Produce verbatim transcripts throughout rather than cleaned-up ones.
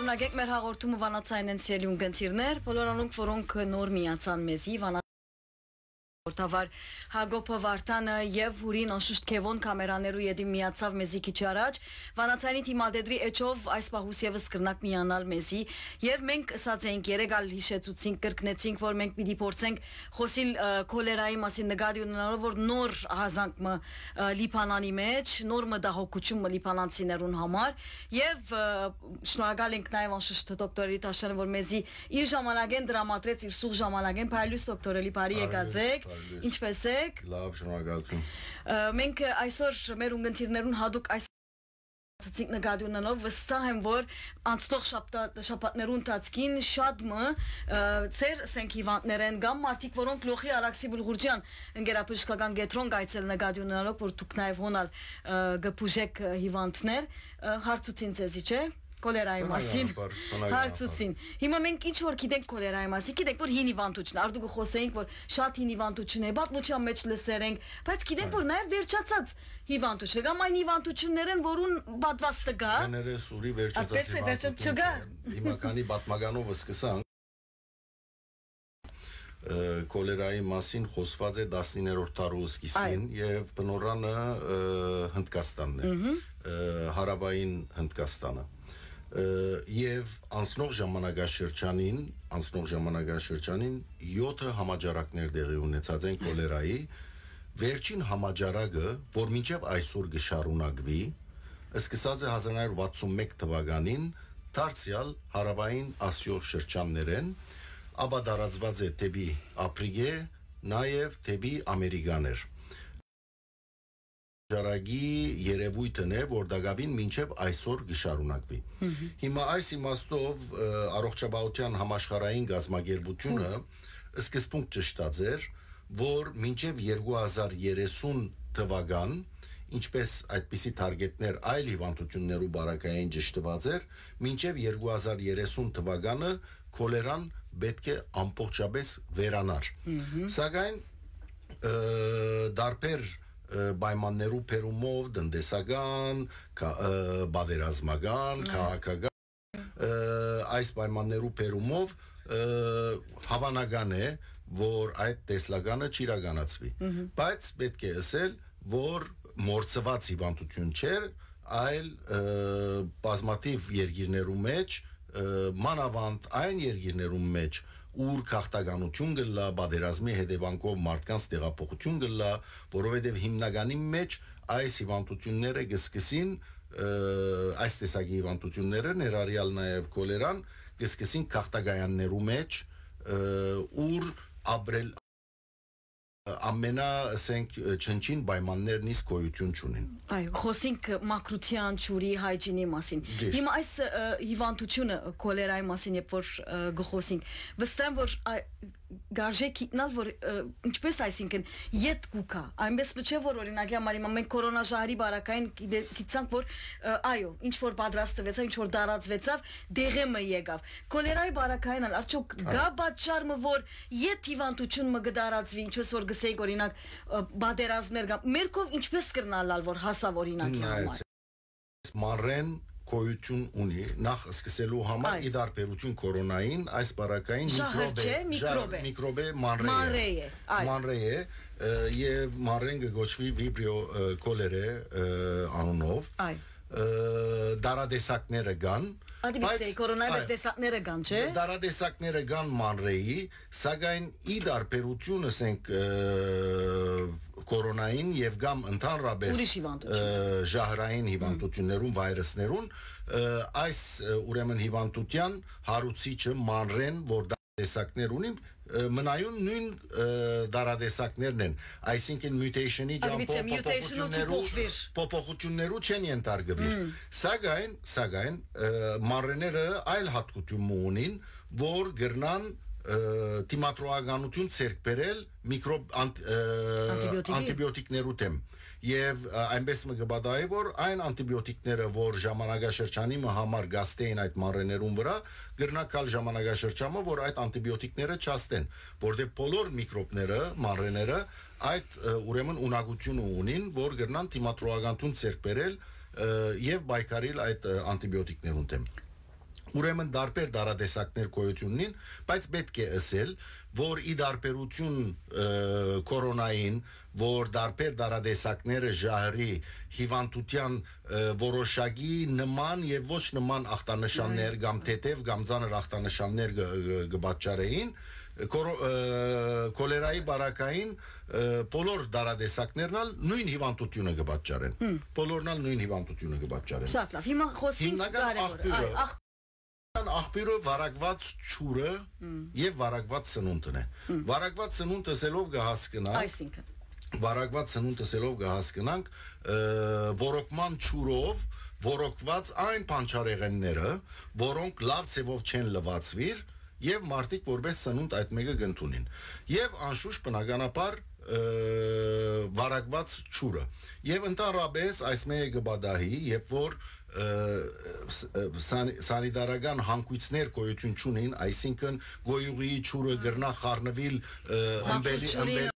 Ակեք մեր հաղորդումը վանացայնեն, սիրելի ունգընտիրներ, բոլոր անոնք, որոնք նոր միացան մեզի, վանա-, որդավար Հակոբը Վարդանը եւ Հուրին անշուշտ Քեւոն կամերաներու ետին միացաւ մեզի քիչ առաջ։ Վանացայինի դիմադեդրի էջով այս պահուս եւս կրնակ միանալ մեզի, եւ մենք ըսած էինք, երեկ ալ յիշեցուցինք, կրկնեցինք, որ մենք պիտի փորձենք խօսիլ, ը, քոլերայի մասին, նկատի ունենալով, որ նոր ահազանգ մը, ը, Լիբանանի մեջ, նոր մտահոգութիւն մը լիբանանցիներուն համար, եւ, ը, շնորհակալ ենք նաեւ անշուշտ դոկտոր Էլի Թաշյանը, որ մեզի իր ժամանակէն դրամատրեց, իր սուղ ժամանակէն։ Բարի լույս, դոկտոր Էլի, բարի եկած եք։ Բարի լույս։ Ինչպե՞ս եք։ Լավ, շնորհակալություն։ Ը, մենք այսօր մեր ունգընտիրներուն յատուկ այս ցուցիկ նկատի ունենալով, վստահ եմ, որ անցնող շաբթա-, շաբաթներու ընթացքին շատ մը, ը, ձեր սենք հիվանդներեն կամ մարդիկ, որոնք Լոխի Արաքսի Բուլղուրջեան ընկերաբժշկական կեդրոն կայցել նկատի ունենալով, որ դուք նաեւ հոնալ, ը, կը բուժեք, ը, հիվանդներ, ը, հարցուցին ձեզի, չէ՞, քոլերայի մասին։ Բնականաբար, բնականաբար։ Հարցուցին։ Հիմա մենք ինչ որ գիտենք քոլերայի մասին, գիտենք, որ հին հիվանդություն, արդու կը խօսեինք, որ շատ հին հիվանդություն է, պատմության մեջ լսեր ենք, բայց գիտենք, որ նաեւ վերջացած հիվանդություն, կամ այն հիվանդություններեն, որուն պատվաստը կա։ Կներես ուրի վերջացած Այդպես է, վերջացած հիվանդություն չկա։ Չեն։ Հիմա քանի պատմականով սկսանք, ը, քոլերայի մասին խոսված է տասնիններորդ դարու սկիզբին Այո։ Եւ բնորանը, ը, Հնդկաստանն է, Մհմ։ Ը, հարավային Հնդկաստանը։ Ը, եւ անցնող ժամանակաշրջանին, անցնող ժամանակաշրջանին յոթը համաճարակներ տեղի ունեցած են Այո։ Քոլերայի։ Վերջին համաճարակը, որ մինչեւ այսօր կը շարունակուի, սկսած է հազար նոյ հարիւր վաթսուն մէկ թուականին, դարձեալ հարավային Ասիոյ շրջաններէն, ապա տարածուած է դէպի Ափրիկե, նաեւ դէպի Ամերիկաներ։ Ճարակի երևոյթն է, որ տակաւին մինչեւ այսօր կը շարունակուի։ Մհմ։ Հիմա այս իմաստով, ը, առողջապահության համաշխարհային կազմակերպությունը Հմ։ Սկզբունք ճշտած էր, որ մինչեւ երկու հազար երեսուն թվական, ինչպես այդպիսի թարգեթներ այլ հիվանդություններու պարագային ճշտված էր, մինչեւ երկու հազար երեսուն թվականը քոլերան պէտք է ամբողջապէս վերանար։ Մհմ։ Սակայն, ը, տարբեր, ը, պայմաններու բերումով, տնտեսական, կա-, ը, պատերազմական, Մհմ։ Քաղաքական, ը, այս պայմաններու բերումով, ը, հավանական է, որ այդ տեսլականը չիրականացվի։ Մհմ։ Բայց պէտք է ըսել, որ մոռցուած հիվանդություն չէր, այլ, ը, բազմաթիւ երկիրներու մեջ, ը, մանաւանդ այն երկիրներուն մեջ, ուր գաղթականություն կ'ըլլայ, պատերազմի հետեւանքով մարդկանց տեղափոխություն կ'ըլլայ, որովհետեւ հիմնականի մեջ այս հիվանդությունները կ'սկսին, ը, այս տեսակի հիվանդությունները, ներառյալ նաեւ քոլերան, կ'սկսին գաղթակայաններու մեջ, ը, ուր ապրել ամենա, ասենք, չնչին պայմաններն իսկ գոյություն չունին։ Այո, խոսենք մաքրության, ջուրի, hygiene-ի մասին։ Ճիշտ։ Հիմա այս, ը, հիվանդությունը, քոլերայի մասին, երբ որ, ը, կխոսենք, վստահ եմ, որ, ա, գարժե գիտնալ, որ, ը, ինչպես, այսինքն, յետ կուքա, այնպես մը չէ, որ, օրինակ, համար հիմա մենք կորոնա ժահրի պարագային գիտե-, գիտցանք, որ, ը, այո, ինչ որ պատրաստվեցաւ, ինչ որ տարածվեցաւ, դեղէ մը եկաւ։ Քոլերայի պարագային ալ, արդյոք կա Այո։ Պատճառ մը, որ յետ հիվանդություն մը կը տարածվի, ինչպես որ գսեիք, օրինակ, ը, պատերազմներ կան, մեր քով ինչպես կրնա ըլլալ, որ հասաւ, օրինակի Նայեցեք, համար։ Մանրեն գոյություն ունի, նախ սկսելու համար, Այո։ Ի դարբերություն կորոնային, այս պարագային Ժահր միկրոբ է, չէ, ժահր-, միկրոբ է։ Միկրոբ է, մանրէ է։ Մանրէ է, այո։ Մանրէ է, ը, եւ մանրեն կը կոչուի Vibrio, ը, cholerae, ը, անունով։ Այո։ Ը, դարատեսակները կան, Ադի բայց, պիտի, կորոնայի այո, տեսակները կան, չէ՞։ Դարատեսակները կան մանրէի, սակայն ի դարբերություն, ասենք, ը, կորոնային եւ կամ ընդհանրապես, Ուրիշ հիվանդություն։ Ը, ժահրային Հմ։ Հիվանդություններուն, վայրուսներուն, ը, այս, ը, ուրեմն հիվանդության հարուցիչը մանրեն, որ դա տեսակներ ունի, ը, մնայուն նոյն, ը, դարատեսակներն են, այսինքն mutation-ի Ադի ջամբով պիտի mutation-ը փոփոխություններու, չփոխվիր։ Փոփոխություններու չեն ենթարկվիր։ Հմ։ Սակայն, սակայն, ը, մանրեները այլ հատկություն մը ունին, որ կրնան, ը, դիմադրողականություն ձեռք բերել միկրոբ-, անտ-, ը, Անտիբիոտիկի։ Անտիբիոտիկներու դեմ։ Եվ, ը, այնպես մը կը պատահի, որ այն անտիբիոտիկները, որ ժամանակաշրջանի մը համար գաստեին այդ մանրեներուն վրա, կրնա գալ ժամանակաշրջանը, որ այդ անտիբիոտիկները չաստեն, որտեղ բոլոր միկրոբները, մանրեները այդ, ը, ուրեմն ունակությունը ունին, որ կրնան դիմադրողականություն ձեռք բերել, ը, եւ պայքարիլ այդ, ը, անտիբիոտիկներուն դեմ։ Ուրեմն դարբեր դարատեսակներ գոյություն ունին, բայց պէտք է ըսել, որ ի դարբերութիւն, ը, կորոնային, որ դարբեր դարատեսակները ժահրի հիւանդութեան, ը, որոշակի նման եւ ոչ նման ախտանշաններ Այո, կամ այո։ թեթեւ կամ ծանր ախտանշաններ կը, կը, կը պատճառեին, կորո-, ը, կոլերայի բարակային, ը, բոլոր դարատեսակներն ալ նոյն հիւանդութիւնը կը պատճառեն։ Հմ։ Բոլորն ալ նոյն հիւանդութիւնը կը պատճառեն։ Շատ լավ։ Հիմա խոսենք Հիմնական կարեւոր, աղբիւրը, այ, աղ- աղբիւրը վարակուած ջուրը Հմ։ եւ վարակուած սնունդն է։ Հմ։ Վարակուած սնունդ ըսելով կը հասկնանք, Այսինքն։ վարակուած սնունդ ըսելով կը հասկնանք, ը, որոկման ջուրով որոկուած այն բանջարեղենները, որոնք լաւ ձեւով չեն լուացուիր, եւ մարդիկ որպես սնունդ այդ մէկը կ'ընդունին։ Եւ անշուշտ բնականաբար, ը, վարակուած ջուրը։ Եւ ընդհանրապես այս մէկը կը պատահի, երբ որ, ը, ս-, ը, սանի-, սանիտարական հանգոյցներ գոյություն չունին, այսինքն գոյուղի ջուրը կրնա խառնուիլ, ը, Ահա, ըմպելի, ջուրին ըմպելի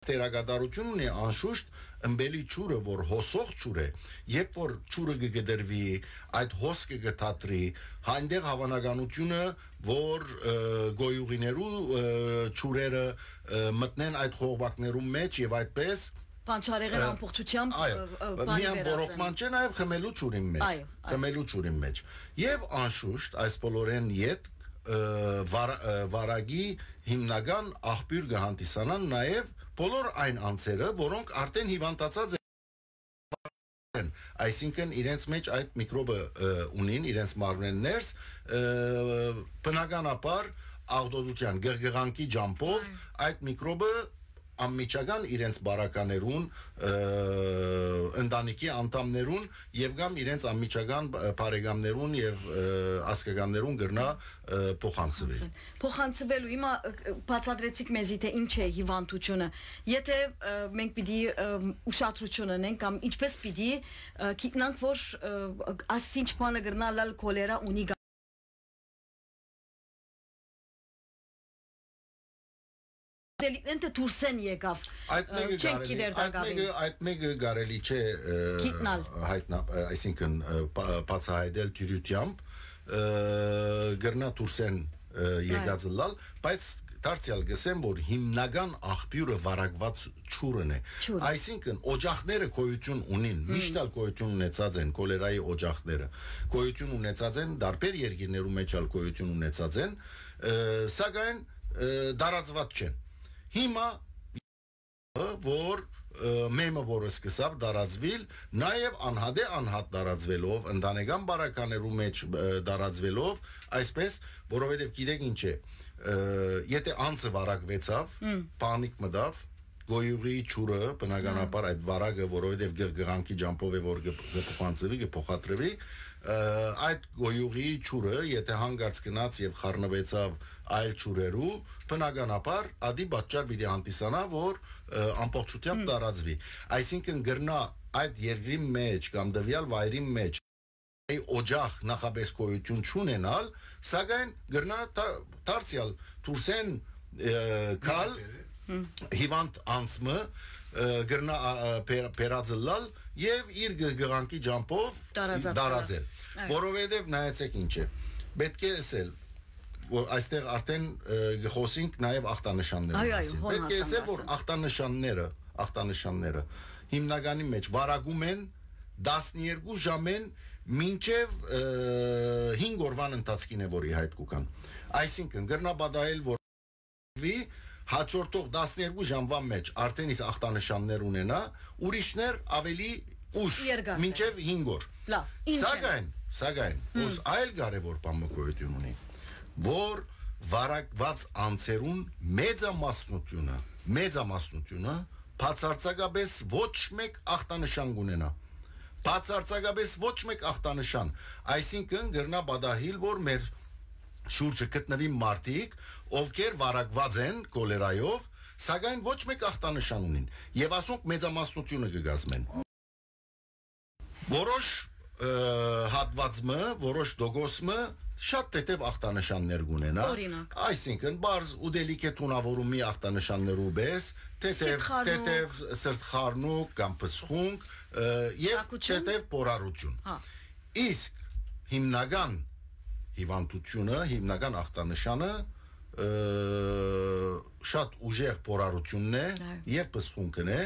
դերակատարութիւն ունի անշուշտ ըմպելի ջուրը, որ հոսող ջուր է, երբ որ ջուրը կը կտրուի, այդ հոսքը կը թատրի, այնտեղ հաւանականութիւնը, որ, ը, գոյուղիներու, ը, ջուրերը, ը, մտնեն այդ խողովակներուն մէջ եւ այդպես, Պանչարեղեն ը, ամբողջությամբ, այո, ը, ը, բանի միայն վերածեն։ Որոկման չէ, նաեւ խմելու ջուրին մէջ, Այո, այո։ խմելու ջուրին մէջ։ Եւ անշուշտ այս բոլորեն յետ, ը, վարա-, ը, վարակի հիմնական աղբիւր կը հանդիսանան նաեւ բոլոր այն անձերը, որոնք արդեն հիւանդացած են, այսինքն իրենց մէջ այդ միկրոբը, ը, ունին, իրենց մարմնեն ներս, ը, բնականաբար աղտոտության, գղգղանքի ջամբով Այո։ այդ միկրոբը անմիջական իրենց բարականերուն, ը, ընտանիքի անդամներուն եւ կամ իրենց անմիջական բ-, բարեկամներուն եւ, ը, ազգականներուն կրնա, ը, փոխանցուի։ Փոխանցվելու։ Հիմա, ը, բացատրեցիք մեզի, թե ինչ է հիվանդությունը։ Եթե, ը, մենք պիտի, ը, ուշադրություն ունենք կամ ինչպես պիտի, ը, գիտնանք, որ, ը, աս ինչ բանը կրնա լալ կոլերա ունի գա- Դելիկնեն թե դուրսեն եկավ, Այդ ը, մեկը չենք կարելի, գիտեր այդ տակավին։ մեկը, այդ մեկը կարելի չէ, ը, Գիտնալ։ հայտնա-, ը, այսինքն, ը, պա-, բացահայտել դյուրութեամբ, ը, կրնա դուրսեն, ը, Այո։ եկած ըլլալ, բայց դարձեալ կսեմ, որ հիմնական աղբիւրը վարակված ջուրն է։ Ջուրը։ Այսինքն, օջախները գոյություն ունին, Հմ։ միշտ ալ գոյություն ունեցած են, կոլերայի օջախները գոյություն ունեցած են, դարբեր երկիրներու մեջ ալ գոյություն ունեցած են, ը, սակայն, ը, տարածված չեն։ Հիմա, որ, ը, մեմը, որ սկսավ տարածվել, նաև անհատե անհատ տարածվելով, ընտանեկան բարականերու մեջ, ը, տարածվելով, այսպես, որովհետև գիտեք ինչ է, ը, եթե անձը վարակվեցավ, Մմ։ պանիկ մտավ, գոյուղի ջուրը, բնականաբար, այդ վարակը, որովհետև գ-, գղանքի ջամբով է, որ գ-, գ-, փոխանցվի, գ-, փոխադրվի, ը, այդ գոյուղի ջուրը, եթե հանկարծ գնաց և խառնվեցավ այլ ջուրերու, բնականաբար, ադի պատճառ պիտի հանդիսանայ, որ, ը, ամբողջությամբ Հմ։ տարածվի։ Այսինքն, կրնա այդ երկրի մեջ կամ տվյալ վայրի մեջ այ օջախ նախապես գոյություն չունենալ, սակայն կրնա դա-, դարձյալ դուրսեն, ը, գալ Մեկը հիվանդ անձը, ը, կրնա, ա, ա, բեր-, բերած ըլլալ և իր գ-, գղանքի ջամբով Տարածած տարածել։ ըլլալ։ Այո։ Որովհետև նայեցեք ինչ է, պետք է ասել, որ այստեղ արդեն, ը, կխոսենք նաև ախտանշանների Այո, այո, մասին։ հոն Պետք է ասել, որ հասանք արդեն։ ախտանշանները, ախտանշանները հիմնականի մեջ վարակում են տասներկու ժամեն մինչև, ը, հինգ օրվան ընթացքին է, որ ի հայտ կուքան։ Այսինքն, կրնա պատահել, որ վի հաջորդող տասներկու ժամվա մեջ արդեն իսկ ախտանշաններ ունենա, ուրիշներ ավելի ուշ, Երկար մինչև հինգ օր։ Լավ, ինչ են։ Սակայն, սակայն, Հմ։ ուս այլ կարևոր բան մը գոյություն ունի, որ վարակված անձերուն մեծամասնությունը, մեծամասնությունը բացարձակապես ոչ մեկ ախտանշան կունենա։ Բացարձակապես ոչ մեկ ախտանշան, այսինքն կրնա պատահիլ, որ մեր շուրջը գտնվին մարդիկ, ովքեր վարակված են կոլերայով, սակայն ոչ մեկ ախտանշան ունին, և ասոնք մեծամասնությունը կը կազմեն։ Որոշ, ը, հատված մը, որոշ տոկոս մը շատ թեթև ախտանշաններ կունենա, Օրինակ։ այսինքն, բարձ ուտելիք է թունավորումի ախտանշաններու պես, թեթև, Սրտխառնուկ։ թեթև սրտխառնուկ կամ փսխունք, ը, և Տաքություն։ թեթև պորարություն։ Հա։ Իսկ հիմնական հիվանդութիւնը, հիմնական ախտանշանը, ը, շատ ուժեղ փորարութիւնն է Այո։ Եւ պսխունքն է,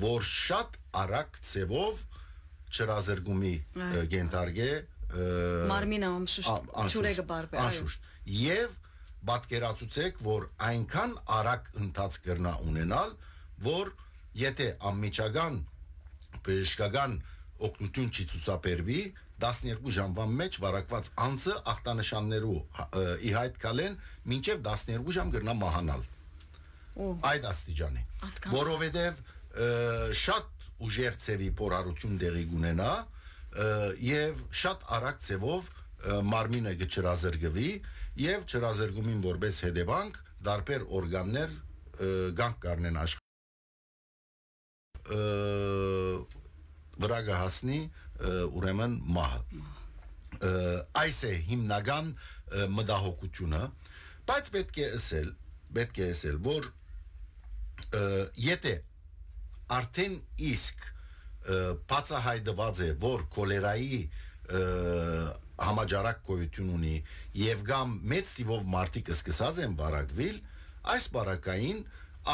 որ շատ արագ ձևով չրազրկումի, Այո։ Ը, կենթարկե, ը, Մարմինը անշուշտ ա-, անշուշտ, ջուրը կբարբե, այո։ Անշուշտ։ Եւ պատկերացուցեք, որ այնքան արագ ընթացք կրնայ ունենալ, որ եթե անմիջական բժշկական օգնութիւն չի ցուցաբերուի, տասներկու ժամուան մէջ վարակուած անձը ախտանշաններու, ը, ի հայտ գալէն մինչեւ տասներկու ժամ կրնայ մահանալ։ Ո։ Այդ աստիճանի։ Ատկան։ Որովհետեւ, ը, շատ ուժեղ ձևի փորարութիւն տեղի կունենայ, ը, եւ շատ արագ ձևով, ը, մարմինը կչրազրկուի, եւ չրազրկումին որպես հետեւանք տարբեր օրգաններ, ը, կանգ կառնեն ը, վրա կը հասնի, ը, ուրեմն մահը։ Ը, այս է հիմնական, ը, մտահոգութիւնը, բայց պէտք է ըսել, պէտք է ըսել, որ, ը, եթե արդեն իսկ, ը, բացահայտուած է, որ քոլերայի, ը, համաճարակ գոյութիւն ունի եւ կամ մեծ թիվով մարդիկ սկսած են վարակուիլ, այս պարագային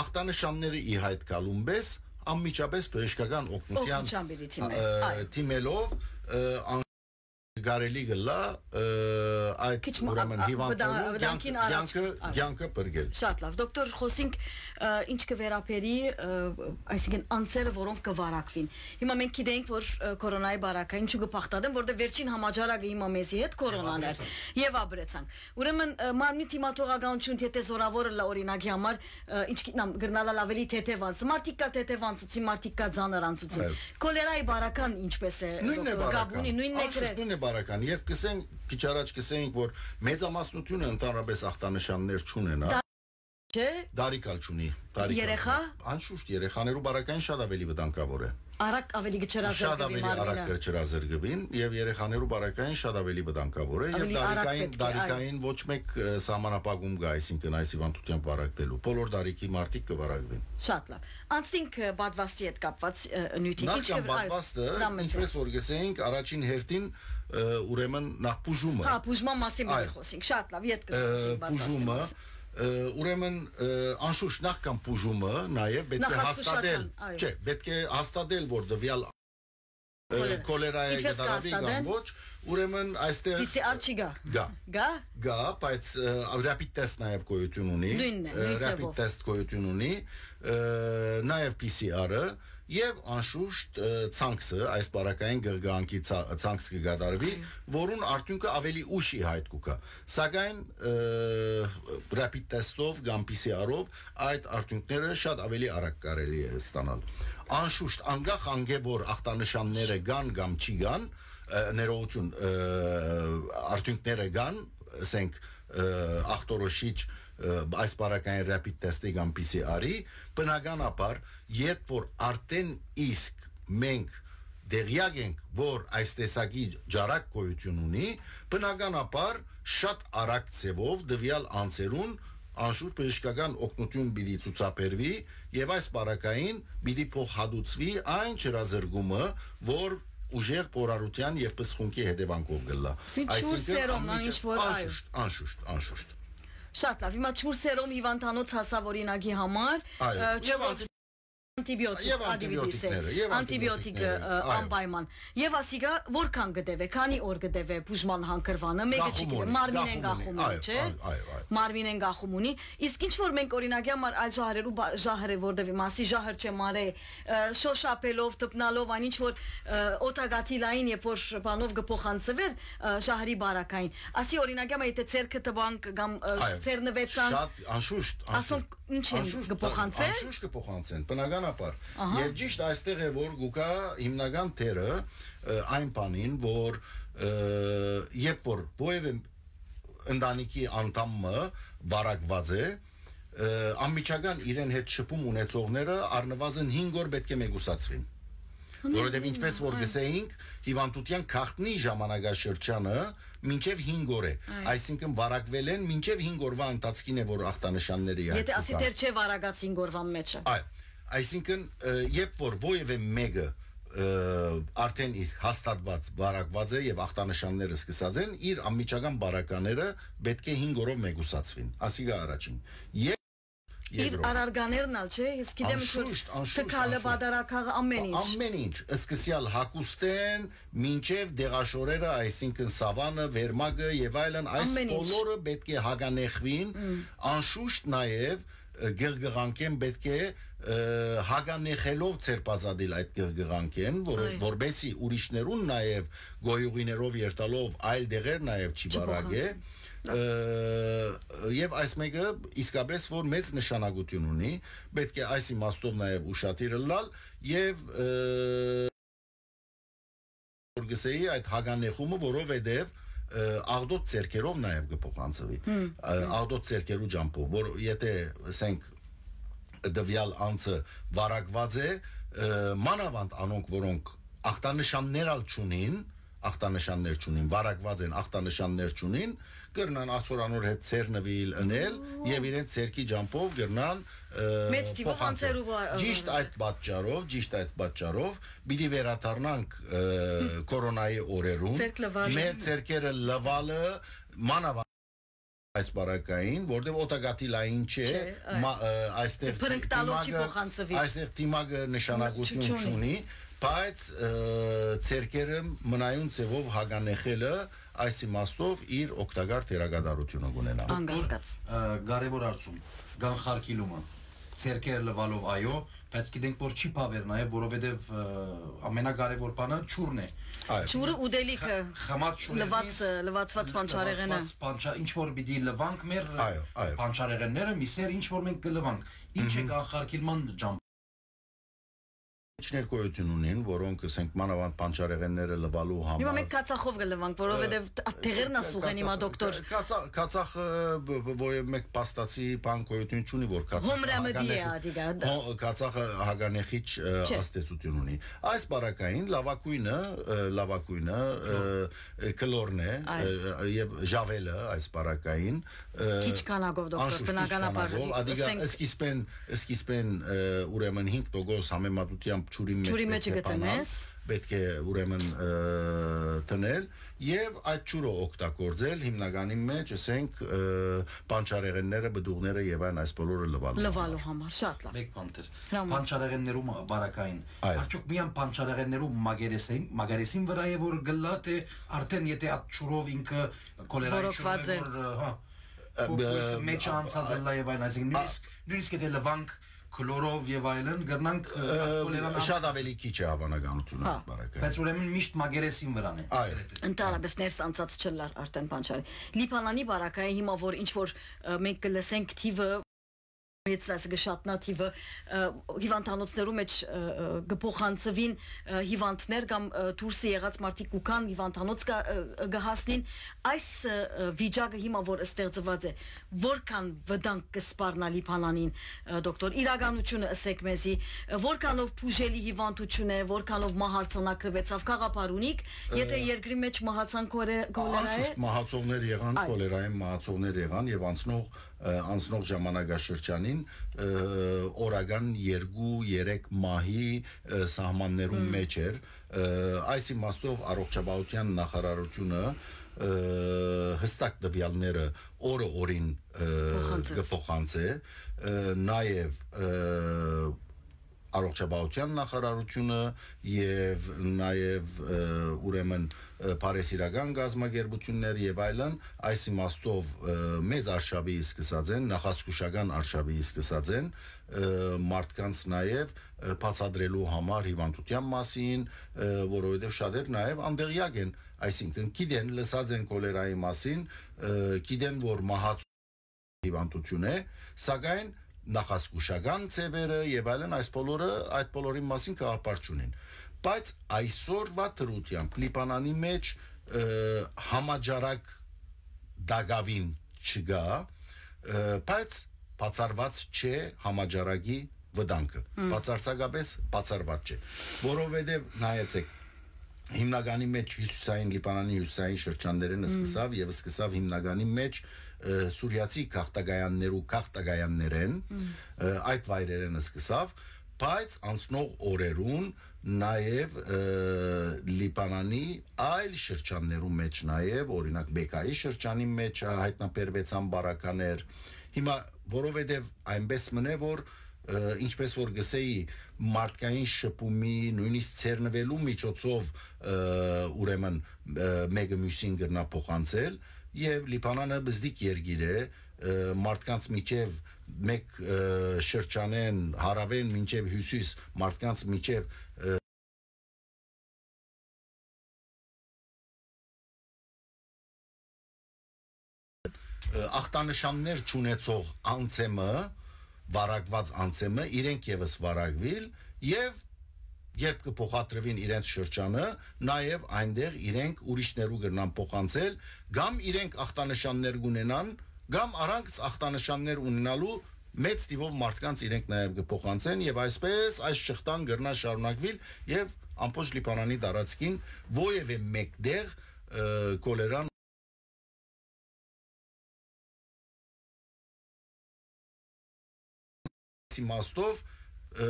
ախտանշանները ի հայտ գալուն պէս անմիջապէս բժշկական օգնութեան, Օգնութեան պիտի դիմեն, ը, այո։ Դիմելով, ը, ան-, կարելի կլա, ը, այդ Քիչ մը ուրեմն ա-, ա-, հիվանդներուն վտա-, վտանգին կյանքը, առաջ, կյանքը, այո։ Կյանքը բրգել։ Շատ լավ։ Դոկտոր, խոսենք, ը, ինչ կը վերաբերի, ը, այսինքն անձերը, որոնք կը վարակվին։ Հիմա մենք գիտենք, որ, ը, կորոնայի բարակային ինչու կը բաղդատեն, որտեղ վերջին համաճարակը հիմա մեզի հետ կորոնան էր։ Եւ ապրեցանք։ Եւ ապրեցանք։ Ուրեմն, ը, մարմնի դիմադրողականություն, եթե զորավորը լա օրինակի համար, ը, ինչ գիտնամ, կրնալալ ավելի թեթեւ անց-, մարդիկ կա թեթեւ անցուցի, մարդիկ կա ծանր անցուցի։ Այո։ Քոլերայի բարական ինչպես է, Նույնն է դոկտոր, գապ բարական։ Ունի, նույնն է Անշուշտ գրեթ։ նույնն է բարական։ Երբ կսենք, քիչ առաջ կսենք, որ մեծամասնությունը ընդհանրապես ախտանշաններ չունենա, Դա չէ։ Դարիք ալ չունի, դարիք ալ Երեխա։ չունի։ Անշուշտ երեխաներու բարակային շատ ավելի վտանգավոր է։ Արագ ավելի Շատ գչրազրկվի ավելի արագ մարմինը։ Կչրազրկվին եւ երեխաներու բարակային շատ ավելի վտանգավոր է եւ Ավելի արագ դարիքային, պետք է, այո։ Դարիքային ոչ մեկ, ը, սահմանապակում կա, այսինքն այս հիվանդությամբ վարակվելու։ Բոլոր դարիքի մարդիկ կվարակվին։ Շատ լավ։ Անցնենք, ը, պատվաստի հետ կապված, ը, նյութի։ Նախքան Ինչեւ, այո, պատվաստը, դա մեծ է։ Ինչպես որ գսեինք, առաջին հերթին, ը, ուրեմն նախ բուժումը։ Հա, բուժման մասին պիտի Այո։ Խոսենք։ Շատ լավ, ետ Ը, կգնանք պատվաստի բուժումը, մասին։ Ը, ուրեմն, ը, անշուշտ նախքան բուժումը նաև պետք է Նախազգուշական, հաստատել, այո։ Չէ, պետք է հաստատել, որ տվյալ, ը, Քոլերա։ Քոլերայ Ինչպես կդարավի կամ կհաստատեն։ Ոչ, ուրեմն այստեղ Պի Սի Ար չի գա։ Գա։ Գա։ Գա, բայց, ը, rapid test նաև գոյություն ունի, Նույնն է, ը, նույն rapid ձևով։ Test գոյություն ունի, ը, նաև Պի Սի Ար-ը, եւ անշուշտ, ը, ցանքսը, այս պարագային գղգանքի ցա-, ցանքս կը կատարվի, Այո։ Որուն արդյունքը ավելի ուշ ի հայտ կուքա։ Սակայն, ը, rapid test-ով կամ Պի Սի Ար-ով այդ արդյունքները շատ ավելի արագ կարելի է ստանալ։ Անշուշտ, անկախ անկէ որ ախտանշանները կան կամ չի կան, ը, ներողություն, ը, արդյունքները կան, ասենք, ը, ախտորոշիչ, ը, այս պարագային rapid test-ի կամ Պի Սի Ար-ի, բնականաբար, երբ որ արդեն իսկ մենք տեղյակ ենք, որ այս տեսակի ջարակ գոյություն ունի, բնականաբար շատ արագ ձևով տվյալ անձերուն անշուշտ բժշկական օգնություն պիտի ցուցաբերվի եւ այս պարագային պիտի փոխհատուցվի այն չրազրկումը, որ ուժեղ փորարության եւ պսխունքի հետևանքով կլա։ Սի ջուր Այսինքն սերոմն անմիջապ-, ինչ որ, այո։ Անշուշտ, անշուշտ, անշուշտ։ Շատ լավ, հիմա ջուր սերոմ հիվանդանոց հասաւ օրինակի համար, Այո, ը, ջուր եւ անտի- անտիբիոտիկ, Եվ ադիվիտիսը, անտիբիոտիկները, եւ անտիբիոտիկը, անտիբիոտիկները, ը, այո։ անպայման։ Եվ ասիկա որքան կը տևէ, քանի օր կը տևէ բուժման հանգրվանը, մեկը չի Գախում գիտեմ, ունի, մարմինեն գախում գախում ունի, ունի, չէ՞։ այո, այո, այո։ Մարմինեն գախում ունի։ Իսկ ինչ որ մենք օրինակի համար այլ ժահրերու բա-, ժահրը որ դեպի մասի ժահր չէ մարե, ը, շոշափելով, տպնալով, այն ինչ որ, ը, օտագաթիլային, երբ որ բանով կը փոխանցվեր, ը, ժահրի բարակային։ Ասի օրինակի համար եթե ցերկը տպանք կամ, ը, Այո։ Ցերնվեցան, Շատ անշուշտ, անշուշտ։ Ասոնք ինչ են, Անշուշտ, կփոխանցեն։ Անշուշտ կփոխանցեն, բնականաբար։ Ահա։ Եվ ճիշտ այստեղ է որ գուկա հիմնական դերը, ը, այն բանին, որ, ը, երբ որ ովևէ ընտանիքի անդամը վարակված է, ը, անմիջական իրեն հետ շփում ունեցողները առնվազն հինգ օր պետք է մեկուսացվին։ Հնի Որովհետև հինգ ինչպես օր, որ այո։ Գսեինք, հիվանդության գաղտնի ժամանակաշրջանը մինչև հինգ օր է, Այո։ Այսինքն վարակվել են մինչև հինգ օրվա ընթացքին է, որ ախտանշանները Եթե իհարկե ասի կան։ Դեռ չէ վարակած հինգ օրվան մեջը։ Այո, այսինքն, ը, երբ որ ովևէ մեկը ը, արդեն իսկ հաստատուած վարակուած է եւ ախտանշանները սկսած են, իր անմիջական բարակաները պէտք է հինգ օրով մեկուսացուին։ Ասիկա առաջին։ Եւ, Իր երկրորդ։ Առարկաներն ալ, չէ՞, ես գիտեմ ինչ որ Անշուշտ, անշուշտ, թքալը, անշուշտ։ Պատարագաղը, ամեն ինչ։ Ամեն ինչ, սկսեալ հագուստեն, մինչեւ դեղաշորերը, այսինքն սավանը, վերմակը եւ այլն, այս Ամեն ինչ։ բոլորը պէտք է հագանեխվին, Մմ։ անշուշտ նաեւ, ը, գղգղանքեն պէտք է, ը, հագանեխելով ձերբազատիլ այդ գղգղանքեն, որ-, Այո։ որպեսզի ուրիշներուն նաեւ գոյուղիներով երթալով այլ դեղեր նաեւ չի Չի բարակե։ փոխանցի։ Ը, եւ այս մեկը իսկապես որ մեծ նշանակություն ունի, պէտք է այս իմաստով նաեւ ուշադիր ըլլալ եւ, ը, որ գսեի այդ հագանեխումը, որովհետեւ, ը, աղդոտ ձեռքերով նաեւ կը փոխանցվի։ Հմ, Ը, հմ։ աղդոտ ձեռքերու ջամբով, որ եթե, ասենք, տվյալ անձը վարակված է, ը, մանավանդ անոնք, որոնք ախտանշաններ ալ չունին, ախտանշաններ չունին, վարակված են, ախտանշաններ չունին, կրնան ասոր անոր հետ ցերնվել, ընել Ո։ եւ իրենց ցերկի ջամբով կրնան, ը, Մեծ թիվով փոխանցել։ անցերու վար-, Ճիշտ վար-, այդ պատճառով, ճիշտ այդ պատճառով պիտի վերադառնանք, ը, կորոնայի օրերուն։ Ցերկ լվալը։ Մեր ցերկերը լվալը մանավանդ այս բարակային, որտեղ օտագաթիլային չէ, Չէ, այ։ մա-, ը, այստեղ Բրնկտալով չի դիմակը, փոխանցվի։ այստեղ դիմակը նշանակություն Չ-, չունի։ չունի, բայց, ը, ցերկերը մնայուն ձևով հագանեխելը այս իմաստով իր օգտակար դերակատարությունը կունենա։ Անկասկած։ Ը, կարևոր հարցում, կանխարգիլումը, ցերկերը լվալով այո, բայց գիտենք որ չի բավեր նաև, որովհետև, ը, ամենակարևոր բանը ջուրն է։ Այո։ Ջուրը ուտելիքը, Խ-, խմած ջուրերնից լվացը, լվացված պանչարեղենը։ լվացված պանչա-, ինչ որ պիտի լվանք մեր Այո, այո։ պանչարեղենները, միսեր, ինչ որ մենք կլվանք, ինչ է Մհմ։ կանխարգիլման ջամ- Ինչ ներկայություն ունին, որոնք, ասենք, մանավանդ պանչարեղենները լվալու համար Հիմա մենք քացախով կլվանք, որովհետև դ-, ա, տեղերն ա Ը, սուղեն հիմա, քացախ-, դոկտոր։ քա-, քացախ-, քացախը բ-, բ-, ո-, մեկ փաստացի բան գոյություն չունի, որ քացախը Հոմրամդի է հագանեխ-, ադիգա, դա։ հո-, քացախը հագանեխիչ, ը, Չէ։ ազդեցություն ունի։ Այս բարակային լավագույնը, ը, լավագույնը, ը, ը, կլորն է, Այ։ ը, ը, եւ ժավելը այս բարակային, ը, Քիչ քանակով, դոկտոր, անշուշտ քիչ բնականաբար, քանակով, ադիգա ասենք սկիզբեն, սկիզբեն, ը, ուրեմն հինգ տոկոս համեմատությամբ ջուրի մեջ Ջուրի պէտք մեջը է բանալ, գտնես։ պէտք է ուրեմն, ը, դնել եւ այդ ջուրը օգտագործել հիմնականի մեջ, ասենք, ը, պանչարեղենները, բդուղները եւ այն այս բոլորը լվալու Լվալու համար։ համար, շատ լավ։ Մեկ բան դեռ։ Հրաման։ Պանչարեղեններու մա-, բարակային։ Այո։ Արդյոք միայն պանչարեղեններու մագերեսին, մագերեսին վրա է որ գլա, թե արդեն եթե այդ ջուրով ինքը կոլերայի Որոքված ջուրով է։ որ, ը, հա, Ը, որ ը, մեջը ա, անցած ա, ըլլա եւ այլն, այսինքն ա, նույնիսկ, նույնիսկ եթե լվանք քլորով եւ այլն, կրնանք, ը, ը, այդ կոլերան շատ անց- ավելի քիչ է հավանականությունը Հա։ այդ բարակային։ Բայց ուրեմն միշտ մագերեսին վրան է Այո։ գրեթե։ Ընդհանրապես ներս անցած չլար արդեն պանչարի։ Լիբանանի բարակայի հիմա որ ինչ որ, ը, մենք կլսենք թիվը մեծ, այսինքն կշատնա թիվը, ը, հիվանդանոցներու մեջ, ը, ը, կփոխանցվին, ը, հիվանդներ կամ, ը, դուրսը եղած մարդիկ կուքան հիվանդանոց կա-, ը, ը, կհասնին, այս, ը, ը, վիճակը հիմա որ ստեղծված է, որքան վտանգ կսպառնա Լիբանանին, ը, դոկտոր, իրականությունը ըսեք մեզի, ը, որքանով բուժելի հիվանդություն է, որքանով մահ արձանագրվեցավ, գաղափար ունիք, եթե Ը, երկրի մեջ մահացան կոլե-, կոլերայ է։ անշուշտ մահացողներ եղան, Այ։ կոլերային մահացողներ եղան եւ անցնող, ը, անցնող ժամանակաշրջանին, ը, օրական երկու, երեք մահի, ը, սահմաններում Մմ։ մեջ էր։ Ը, այս իմաստով առողջապահության նախարարությունը, ը, հստակ տվյալները օրը օրին, ը, Փոխանցեց։ կփոխանցե, ը, նաև, ը, առողջապահության նախարարությունը և նաև, ը, ուրեմն, ը, բարեսիրական կազմակերպություններ և այլն այս իմաստով, ը, մեծ արշավի սկսած են, նախազգուշական արշավի սկսած են, ը, մարդկանց նաև, ը, բացատրելու համար հիվանդության մասին, ը, որովհետև շատեր նաև անտեղյակ են, այսինքն գիտեն, լսած են կոլերայի մասին, ը, գիտեն, որ մահաց հիվանդություն է, սակայն նախազգուշական ձևերը և այլն, այս բոլորը, այդ բոլորին մասին գաղափար չունին։ Բայց այսօրվա դրությամբ Լիբանանի մեջ, ը, համաճարակ դակավին չկա, ը, բայց բացառված չէ համաճարակի վտանգը։ Հմ։ Բացարձակապես բացառված չէ, որովհետև նայեցեք, հիմնականի մեջ հյուսիսային, Լիբանանի հյուսիսային շրջաններէն Հմ։ սկսավ և սկսավ հիմնականի մեջ, ը, սուրիացի գաղթակայաններու գաղթակայաններէն, Հմ։ ը, այդ վայրերէն սկսավ, բայց անցնող օրերուն նաեւ, ը, Լիբանանի այլ շրջաններու մէջ նաեւ, օրինակ, Բեկայի շրջանի մէջ հայտնաբերուեցան բարականեր։ Հիմա, որովհետեւ այնպէս մնէ, որ, ը, ինչպես որ գսեի, մարդկային շփումի, նոյնիսկ ցերնուելու միջոցով, ը, ուրեմն, ը, մէկը միւսին կրնայ փոխանցել, եւ Լիբանանը բզդիկ երկիր է, ը, մարդկանց միջեւ մէկ, ը, շրջանէն, հարաւէն մինչեւ հիւսիս, մարդկանց միջեւ, ը, ը, ախտանշաններ չունեցող անցեմը, վարակուած անցեմը, իրենք եւս վարակուիլ, եւ երբ կը փոխադրուին իրենց շրջանը, նաեւ այնտեղ իրենք ուրիշներու կրնան փոխանցել, կամ իրենք ախտանշաններ կունենան, կամ առանց ախտանշաններ ունենալու մեծ թիւով մարդկանց իրենք նաեւ կը փոխանցեն, եւ այսպէս այս շղթան կրնայ շարունակուիլ, եւ ամբողջ Լիբանանի տարածքին որեւէ մէկ տեղ, ը, քոլերան իմաստով, ը,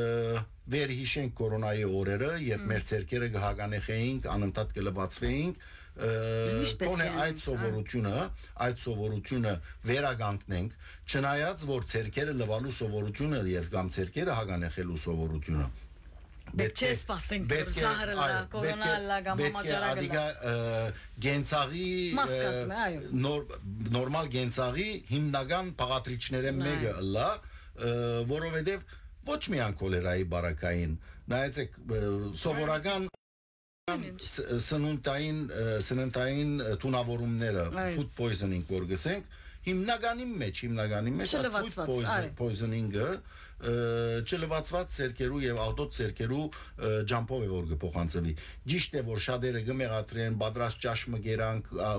վերհիշենք կորոնայի օրերը, երբ մեր ձեռքերը կը հագանեխեինք, անընդհատ կը լվացվեինք, ը, Միշտ պետք գոնե է այդ ան, սովորությունը, այդ սովորությունը վերականգնենք, չնայած որ ձեռքերը լվալու սովորությունը եւ կամ ձեռքերը հագանեխելու սովորությունը Պէտք չէ սպասենք, որ պետք է, ժահր ըլլա, այո, կորոնա պետք է, ըլլա կամ պետք է համաճարակ ըլլա։ Ադիգա, ը, կենցաղի, Մաս ը, կազմի, այո։ նոր-, նորմալ կենցաղի հիմնական բաղադրիչներէն Այո։ մէկը ըլլա, ը, որովհետեւ ոչ միայն քոլերայի բարակային, նայեցեք, ը, սովորական Ամեն ինչ։ ս-, սնունդային, ը, սննդային, ը, թունավորումները, Այո։ food poisoning որ գսենք, հիմնականին մէջ, հիմնականին մէջ այդ food Չլվացված, poison-, այո։ poisoning-ը, ը, չլվացված ձեռքերու եւ աղտոտ ձեռքերու, ը, ջամբով է որ կը փոխանցվի։ Ճիշդ է որ շատերը կը մեղադրեն, պատրաստ ճաշ մը կերանք, ա,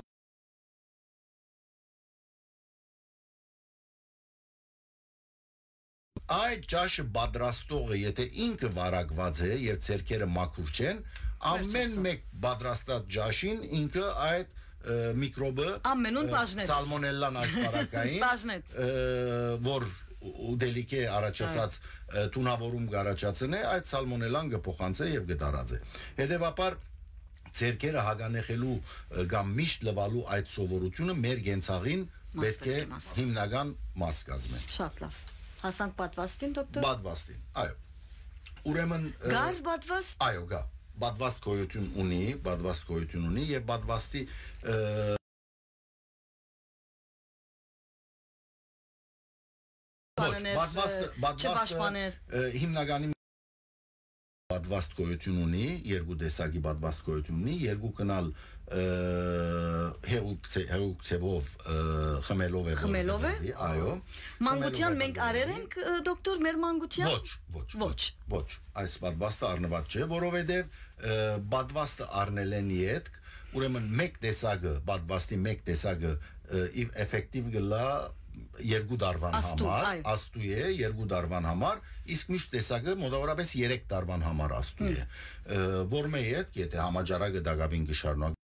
այդ ճաշը պատրաստողը, եթե ինքը վարակված է եւ ձեռքերը մաքուր չեն, ամեն Վերջացա։ մեկ պատրաստած ճաշին ինքը այդ, ը, միկրոբը, Ամենուն ը, բաժնեց։ սալմոնելլան այս բարակային, Բաժնեց։ ը, որ ու-, ուտելիք է առաջացած, Այո։ ը, թունավորում կառաջացնէ, այդ սալմոնելլան կը փոխանցէ եւ կը տարածէ։ Հետեւաբար, ձեռքերը հագանեխելու, ը, կամ միշտ լվալու այդ սովորությունը մեր կենցաղին Մաս պետք է պետք է մաս։ հիմնական մաս կազմեն։ Շատ լավ։ Հասանք պատվաստին, դոկտոր։ Պատվաստին, այո։ Ուրեմն, ը, Կար պատվաստ։ Այո, կա։ Պատվաստ գոյություն ունի, պատվաստ գոյություն ունի եւ պատվաստի, ը, Ոչ, Պաշտպաներ, պատվաստը, ը, պատվաստը, չպաշտպաներ։ ը, հիմնականի պատվաստ գոյություն ունի, երկու տեսակի պատվաստ գոյություն ունի, երկուքն ալ, ը, հեղուկ ձե-, հեղուկ ձևով, ը, խմելով է, որ Խմելով է։ գտնվի, այո, Մանկության խմելով է մենք գտնվի։ արեր ենք, ը, դոկտոր, մեր մանկության։ Ոչ, ոչ, Ոչ։ ոչ, ոչ, այս պատվաստը առնված չէ, որովհետև, ը, պատվաստը առնելեն ետք, ուրեմն մեկ տեսակը, պատվաստի մեկ տեսակը, ը, իվ էֆեկտիվ կլա երկու դարվան Աստու, համար, այո։ աստու է երկու դարվան համար, իսկ միշտ տեսակը մոտավորապես երեք դարվան համար աստու Հմ։ է, ը, որ մե ետք, եթե համաճարակը դակավին կշարունակի,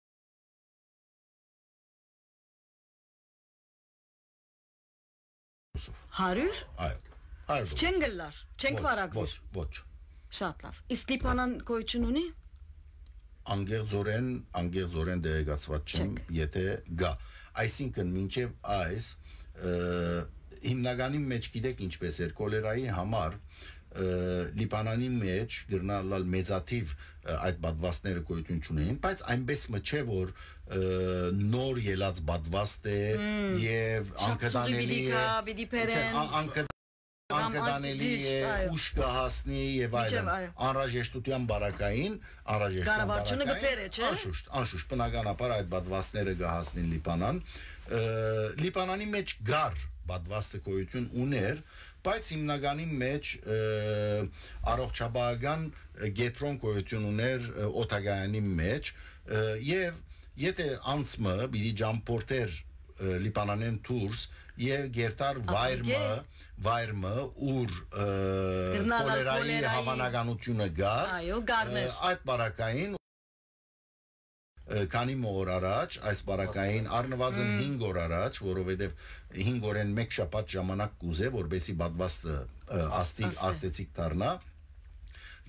Հարյուր։ Այո, հարյուր դոլար։ Չեն գլար, չենք Ոչ, վարակվի։ ոչ, ոչ։ Շատ լավ։ Իսկ Լիբանան գոյություն ունի։ Անգերձորեն, անգերձորեն տեղեկացված չեմ, Չեք։ եթե գա։ Այսինքն, մինչև այս, ը, հիմնականի մեջ գիտեք ինչպես էր, կոլերայի համար, ը, Լիբանանի մեջ գրնալալ մեծաթիվ, ը, այդ պատվաստները գոյություն չունեին, բայց այնպես մը չէ, որ, ը, նոր ելած պատվաստ է Մմ, և շատ անկդանելի սուղի պիտի է, գա, պիտի բերեն։ ա-, անկդ-, Կամ անկդանելի անճիշտ, է, այո։ ուշ կհասնի և Մինչև, այլն։ այո։ Անհրաժեշտության բարակային, անհրաժեշտության Կառավարությունը բարակային, կբերե, չէ՞։ անշուշտ, անշուշտ, բնականաբար այդ պատվաստները կհասնին Լիբանան։ Ը, Լիբանանի մեջ գար պատվաստը գոյություն ուներ, բայց հիմնականի մեջ, ը, առողջապահական, ը, կեդրոն գոյություն ուներ, ը, օդակայանի մեջ, ը, և եթե անցմը պիտի ճամփորդեր, ը, Լիբանանեն դուրս և գերտար Ապա վայր մը, կե- վայր մը, ուր, ը, Կրնալ ալ կոլերայի կոլերայի։ հավանականությունը գար, Այո, գարներ։ ը, այդ բարակային, ը, քանի մը օր առաջ, այս բարակային, Աստղ։ առնվազն Մմ։ հինգ օր առաջ, որովհետև հինգ օրեն մեկ շաբաթ ժամանակ կուզե, որպեսի պատվաստը, ը, Աստ-, աստի-, Աստի։ աստեցիկ դառնա,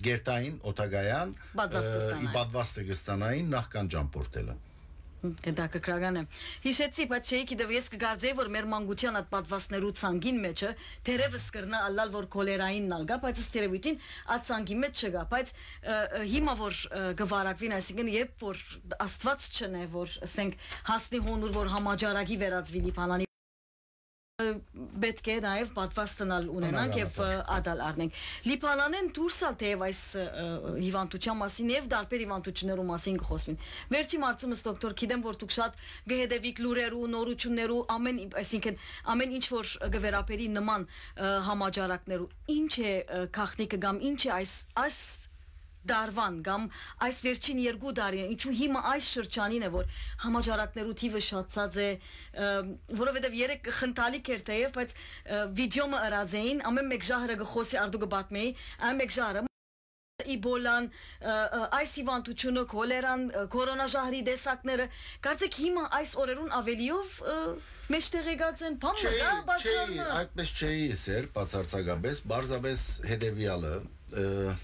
կերտային օդակայան, Պատվաստը ը, ի ստանային։ պատվաստը կը ստանային նախքան ճամբորդելը։ Հմ, հետաքրքրական է։ Յիշեցի, բայց չէի գիտեմ, ես կկարծեի, որ մեր մանկության այդ պատվաստներու ցանկին մեջը թերևս կրնայ ըլլալ, որ քոլերային ալ կայ, բայց ըստ երևոյթին այդ ցանկի մեջ չկայ, բայց, ը, ը, հիմա որ, ը, կը վարակուին, այսինքն երբ որ Աստուած չընէ, որ, ասենք, հասնի հոն ուր որ համաճարակի վերածուի Լիբանանի, ը, պէտք է նաեւ պատվաստն ալ ունենանք եւ, ը, Բնականաբար։ ատալ առնենք։ Լիբանանէն դուրս ալ թէեւ այս, ը, ը, հիվանդութեան մասին եւ տարբեր հիվանդութիւններու մասին կը խօսուին։ Վերջին հարցումս, դոկտոր, գիտեմ որ դուք շատ կը հետեւիք լուրերու, նորութիւններու, ամեն, այսինքն, ամեն ինչ որ կը վերաբերի նման, ը, համաճարակներու։ Ինչ է, ը, գաղտնիքը կամ ինչ է այս, այս տարուան կամ այս վերջին երկու տարին, ինչու հիմա այս շրջանին է, որ համաճարակներու թիվը շատացած է, ը, որովհետեւ երեկ խնդալիք էր թէեւ, բայց, ը, վիդեոմը ըրած էին, ամեն մէկ ժահրը կը խօսի, արդու կը պատմէի, ամեն մէկ ժահրը, իբոլան, ը, ը, այս հիվանդութիւնը, քոլերան, ը, կորոնաժահրի տեսակները, կարծեք հիմա այս օրերուն ավելիով, ը, մեջտեղեկած են, բան մը Չէի, կա, պատճառ չէի, մը։ այդպես չէի ըսեր, բացարձակապես, պարզապես հետեւեալը, ը,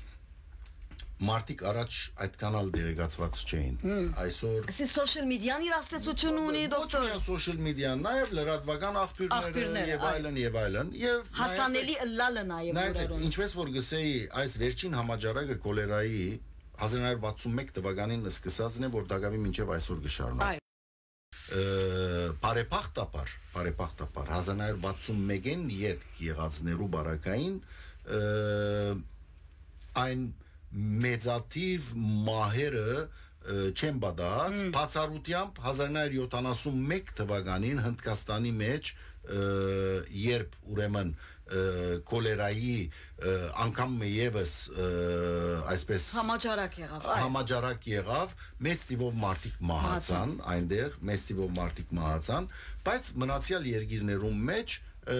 մարդիկ առաջ այդքան ալ տեղեկացված չէին։ Այսօր Այսի social media-ն իր ազդեցությունը ունի, Ոչ դոկտոր։ միայն social media-ն, նաեւ լրատվական աղբիւրները Աղբիւրները, եւ այո։ այլն, եւ այլն, եւ Հասանելի նայեցեք, ըլլալը նաեւ նայեցեք, օրերուն։ ինչպես որ գսեի, այս վերջին համաճարակը քոլերայի հազար նոյ հարիւր վաթսուն մէկ թվականին սկսածն է, որ տակաւին մինչեւ այսօր կը շարունակի։ Այո։ Ը, բարեբախտաբար, բարեբախտաբար, հազար նոյ հարիւր վաթսուն մէկին ետք եղածներու բարակային, ը, այն մեծաթիւ մահերը, ը, չեն պատահած, Մմ։ բացառությամբ հազար նոյ հարիւր յոթանասուն մէկ թվականին Հնդկաստանի մեջ, ը, երբ ուրեմն, ը, քոլերայի, ը, անգամ մը եւս, ը, այսպես Համաճարակ եղավ, այո։ համաճարակ եղավ, մեծ թիվով մարդիկ մահացան Մահացան։ այնտեղ, մեծ թիվով մարդիկ մահացան, բայց մնացեալ երկիրներուն մեջ, ը,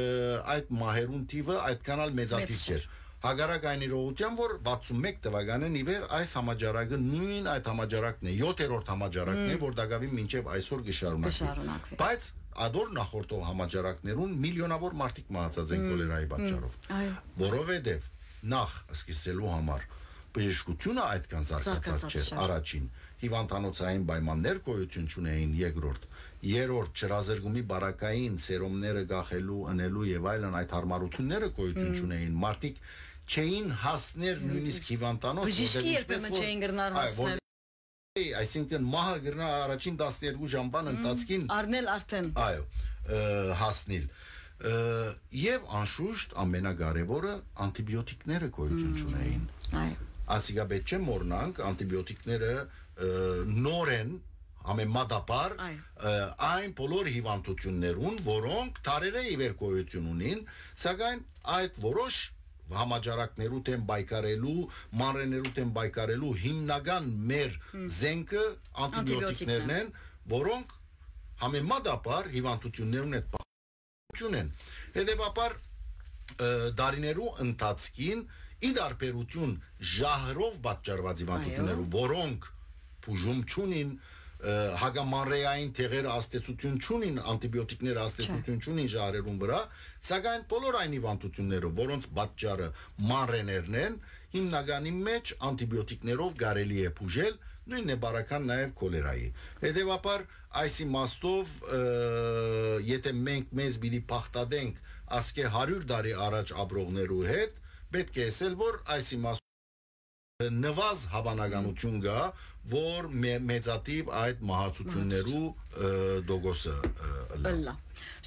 այդ մահերուն թիվը այդքան ալ մեծաթիվ Մեծ չէր։ չէր։ Հակառակ այն իրողութեան, որ վաթսուն մէկ թվականէն ի վեր այս համաճարակը նոյն այդ համաճարակն է, յոթերորդ համաճարակն է, Մմ։ որ տակաւին մինչեւ այսօր կը շարունակվի։ Կը շարունակվի։ Բայց ադոր նախորդող համաճարակներուն միլիոնավոր մարդիկ մահացած են Մմ, քոլերայի մմ, պատճառով։ այո։ Որովհետեւ նախ սկսելու համար բժշկությունը այդքան զարգացած Զարգացած չէր չէր։ առաջին, հիվանդանոցային պայմաններ գոյություն չունեին երկրորդ, երրորդ՝ չրազրկումի բարակային սերոմները կախելու, ընելու եւ այլն այդ հարմարությունները գոյություն Մմ։ չունեին, մարդիկ չէին հասներ Մմ։ նույնիսկ հիվանդանոց, Բժիշկի որտեղ երբեմն ինչպես որ, չէին կրնար այ, որ հասնել։ Այսինքն մահը կրնա առաջին տասներկու ժամվան Մմ, ընթացքին առնել արդեն։ այո, ը, հասնիլ։ Ը, եւ անշուշտ ամենակարեւորը՝ անտիբիոտիկները գոյություն Մմ, չունեին։ այո։ Ասիկա պետք չէ մոռնանք, անտիբիոտիկները, ը, նոր են, համեմատաբար, Այո։ ը, այն բոլոր հիվանդություններուն, որոնք դարերէ ի վեր գոյություն ունին, սակայն այդ որոշ համաճարակներու դէմ պայքարելու, մանրէներու դէմ պայքարելու հիմնական մեր Հմ։ զենքը անտիբիոտիկներն Անտիբիոտիկներն։ են, որոնք համեմատաբար հիվանդություններուն հետ պահպանություն են։ Հետևաբար, ը, դարիներու ընթացքին, ի դարբերություն ժահրով պատճառված հիվանդություններու, Այո։ որոնք բուժում չունին, ը, հակամանրէային թեղերը ազդեցություն չունին, անտիբիոտիկները ազդեցություն չունին ժահրերուն վրա, սակայն բոլոր այն հիվանդությունները, որոնց պատճառը մանրէներն են, հիմնականի մեջ անտիբիոտիկներով կարելի է բուժել, նոյնն է բարական նաեւ քոլերայի։ Հետևաբար, այս իմաստով, ը, եթե մենք մեզ պիտի բաղդատենք ասկէ հարիւր տարի առաջ ապրողներու հետ, պետք է ըսել, որ այս իմաստով նուազ հաւանականություն կայ, որ մե-, մեծաթիվ այդ մահացություններու, ը, տոկոսը, ը, ըլլայ։ Ըլլայ։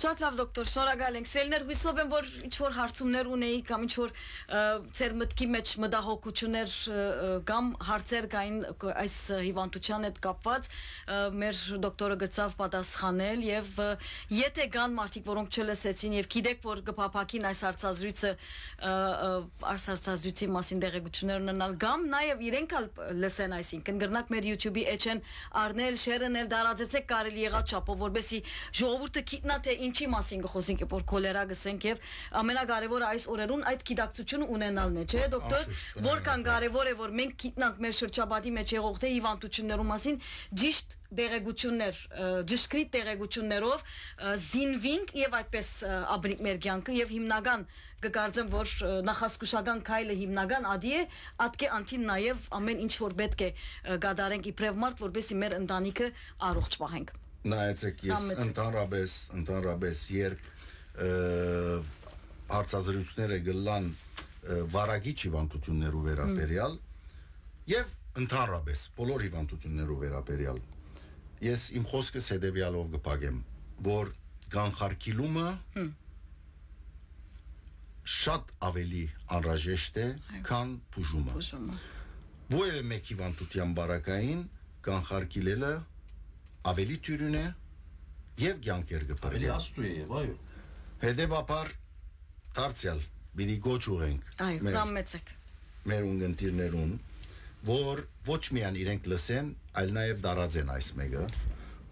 Շատ լաւ, դոկտոր, շնորհակալ ենք։ Սիրելիներ, հուսով եմ, որ ինչ որ հարցումներ ունեիք կամ ինչ որ, ը, ձեր մտքի մեջ մտահոգություններ, ը, ը, կամ հարցեր կային, ը, այս, ը, հիվանդության հետ կապված, ը, մեր դոկտորը գցավ պատասխանել եւ, ը, եթե կան մարդիկ, որոնք չլսեցին եւ գիտեք, որ կփափաքին այս հարցազրույցը, ը, ը, այս հարցազրույցի մասին տեղեկություններ ունենալ կամ նաեւ իրենք ալ լսեն, այսինքն կրնաք մեր YouTube-ի էջեն առնել, շերնել, տարածեցեք կարելի եղած չափով, որպեսզի ժողովուրդը գիտնա Թե ինչի մասին կը խօսենք, որ քոլերա կ'ըսենք, եւ ամենակարեւորը այս օրերուն այդ գիտակցությունը ունենալն է, չէ՞, դոկտոր, Անշուշտ, որքան կարեւոր է, որ մենք գիտնանք մեր շրջապատի մեջ եղող թե հիվանդություններու մասին ճիշտ տեղեկություններ, ը, ճշգրիտ տեղեկություններով, ը, զինվինք եւ այդպես, ը, ապրինք մեր կյանքը, եւ հիմնական կը կարծեմ, որ, ը, նախազգուշական քայլը հիմնական ադի է, ատկէ անթին նաեւ ամեն ինչ որ պէտք է, ը, կատարենք իբրեւ մարդ, որպեսզի մեր ընտանիքը առողջ պահենք։ Նայեցեք, ես Համեցեք։ Ընդհանրապես, ընդհանրապես, երբ, ը, հարցազրույցները գլան, ը, վարակիչ հիվանդություններու վերաբերյալ Մմ։ Եւ ընդհանրապես բոլոր հիվանդություններու վերաբերյալ, ես իմ խօսքս հետեւեալով կը փակեմ, որ կանխարգիլումը Հմ։ շատ ավելի անհրաժեշտ է, Այո։ քան բուժումը։ Բուժումը։ Որևէ մէկ հիվանդության բարակային կանխարգիլելը ավելի դիւրին է եւ կյանքեր կը Ավելի փրկեն։ Աստու է, եւ այո։ Հետեւաբար դարձեալ պիտի կոչ ուղենք Այո, մեր հրամեցեք։ մեր ունգընտիրներուն, որ ոչ միայն իրենք լսեն, այլ նաեւ տարածեն այս մեկը,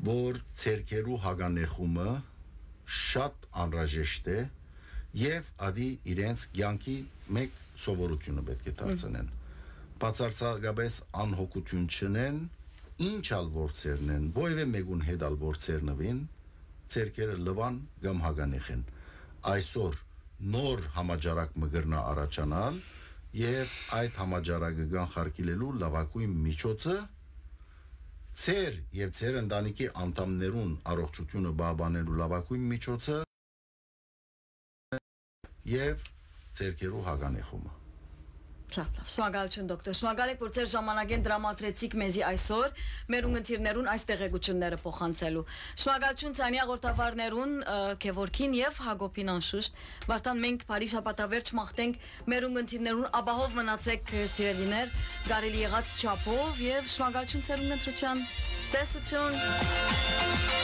որ ձեռքերու հագանեխումը շատ անհրաժեշտ է եւ ադի իրենց կյանքի մեկ սովորությունը պէտք է Մմ։ դարձնեն։ Բացարձակապես անհոգություն չնեն, ինչ ալ որ ձեռնեն, որևէ մեկուն հետ ալ որ ձեռնուին, ձեռքերը լուան կամ հագանեխեն։ Այսօր նոր համաճարակ մը կրնայ առաջանալ եւ այդ համաճարակը կանխարգիլելու լաւագոյն միջոցը ձեր եւ ձեր ընտանիքի անդամներուն առողջությունը պահպանելու լաւագոյն միջոցը եւ ձեռքերու հագանեխումը։ Շատ լավ։ Շնորհակալություն, դոկտոր։ Շնորհակալ եք, որ ձեր ժամանակէն տրամադրեցիք մեզի այսօր մեր ունգընտիրներուն այս տեղեկությունները փոխանցելու։ Շնորհակալություն ցանի հաղորդավարներուն, ը, Գևորգին եւ Հակոբին անշուշտ։ Վարդան, մենք բարի շաբաթավերջ մաղթենք մեր ունգընտիրներուն, ապահով մնացեք, սիրելիներ, կարելի եղած չափով, եւ շնորհակալություն ձեր ունգընտրութեան։ Տեսություն։